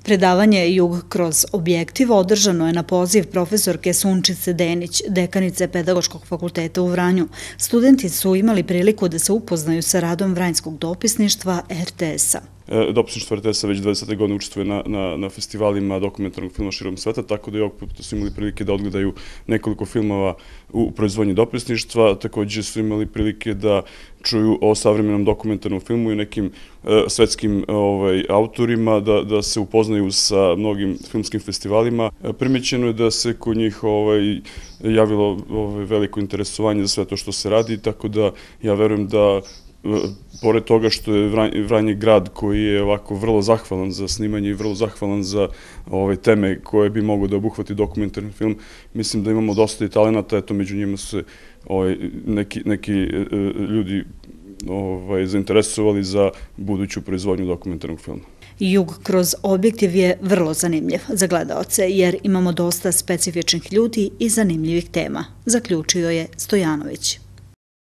Predavanje Jug kroz objektiv održano je na poziv profesorke Sunčice Denić, dekanice Pedagoškog fakulteta u Vranju. Studenti su imali priliku da se upoznaju sa radom Vranjskog dopisništva RTS-a. Dopisništvo RTS-a već 20. godine učestvuje na festivalima dokumentarnog filma širom sveta, tako da i ovog puta su imali prilike da odgledaju nekoliko filmova u proizvodnji dopisništva. Također su imali prilike da čuju o savremenom dokumentarnom filmu i nekim svetskim autorima, da se upoznaju sa mnogim filmskim festivalima. Primećeno je da se kod njih javilo veliko interesovanje za sve to što se radi, tako da ja verujem da pored toga što je Vranje grad koji je ovako vrlo zahvalan za snimanje i vrlo zahvalan za teme koje bi mogao da obuhvati dokumentarni film, mislim da imamo dosta i talenata, eto među njima su se neki ljudi zainteresovali za buduću proizvodnju dokumentarnog filma. Jug kroz objektiv je vrlo zanimljiv za gledaoce jer imamo dosta specifičnih ljudi i zanimljivih tema, zaključio je Stojanović.